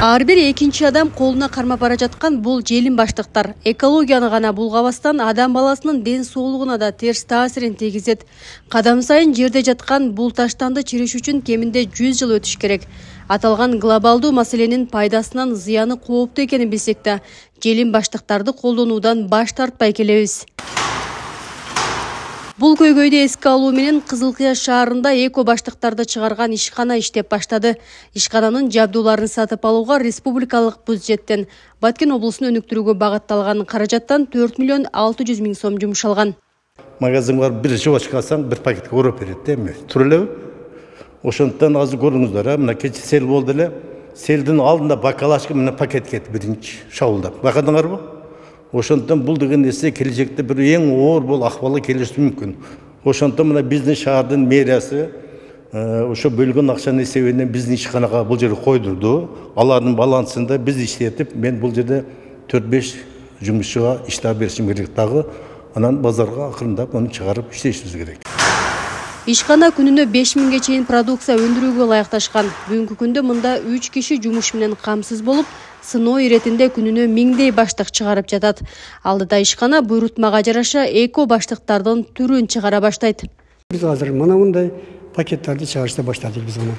Ар бир экинчи адам колуна кармап бара жаткан бул желим баштыктар экологияны гана булгабастан адам баласынын ден соолугуна да терс таасирин тийгизет. Кадам сайын жерде жаткан бул таштанды чириш үчүн кеминде 100 жыл өтүш керек. Аталган глобалдуу маселенин пайдасынан зыяны кооптуу экенин билсек да, желим баштыктарды колдонуудан баш тартпай келебиз. Бул көйгөйдү эске алуу менен Кызыл Кыяш шаарында эко баштыктарды чыгарган ишкана иштеп баштады. Ишкананын жабдууларын сатып алууга республикалык бюджеттен Баткен облусун өнүктүрүүгө багытталган каражаттан 4 миллион 600 миң сом жумшалган. Магазин бар, бир жубачка алсаң, бир пакетке ороп берет да эми. Тура элеби? Ошондон азыр көрүңүздөр, мына кече сел болду эле. Селдин алдында бакалашка менен пакет кетти биринчи шабылдап. Байкадыңарбы? Ошондон бул деген нерсе келечекте бир эң оор бул акыбалга келиши мүмкүн. Ошондон мына биздин шаардын мэриясы ошо бөлгөн акчанын эсебинен биздин ишканага бул жерге койдурду. Алардын балансында биз иштетип, мен бул жерде 4-5 жумушчуга иш таап беришим керек дагы. Анан базарга акырындап аны чыгарып иштешибиз керек. Ишкана күнүнө 5 миңге чейин продукция өндүрүүгө ылайыкташкан. Бүгүнкү күндө мында 3 киши жумуш менен камсыз болуп, сыноо иретинде күнүнө 1000дей баштык чыгарып жатат. Алдыда ишкана буйрутмага жараша эко баштыктардын түрүн чыгара баштайт. Биз азыр мына мындай пакеттерди чыгарышты баштадык биз мына.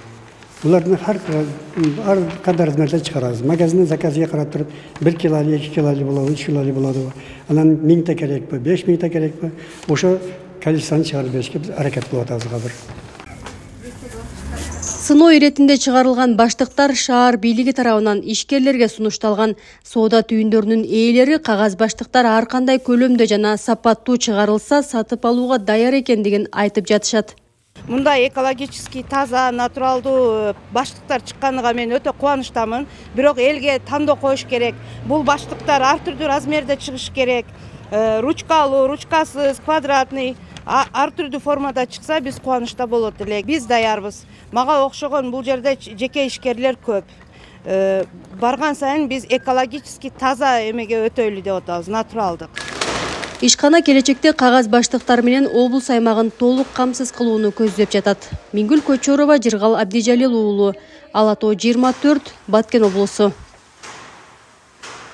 Булардын ар кандай размерде чыгарабыз. Магазинден заказга карап туруп 1 кило, 2 кило болобу, 3 кило болобу. Анан 1000 та керекпи, 5000 та керекпи? Ошо количествону чыгарып беришке биз аракет кылып атабыз азыр. Сыноо иретинде чыгарылган баштыктар шаар бийлиги тарабынан ишкерлерге сунушталган. Соода түйүндөрүнүн ээлери кагаз баштыктар ар кандай көлөмдө жана сапаттуу чыгарылса сатып алууга даяр экендигин айтып жатышат. Мындай экологический таза, натуралдуу баштыктар чыкканыга мен өтө кубанычтамын. Бирок элге тандоо коюш керек. Бул баштыктар ар түрдүү размерде чыгыш керек. Ручкалуу, ручкасыз, квадратный, ар түрдүү формада чыкса биз кубанычта болот элек. Биз даярбыз. Мага окшогон бул жерде жеке ишкерлер көп. Барган сайын биз экологический таза эмеге өтөлү деп атабыз, натуралдык. Ишкана келечекте кагаз баштыктар менен облус аймагын толук камсыз кылууну көздөп жатат. Мингүл Көчөрова, Жыргал Абдижалил уулу, Ала Тоо 24, Баткен облусу.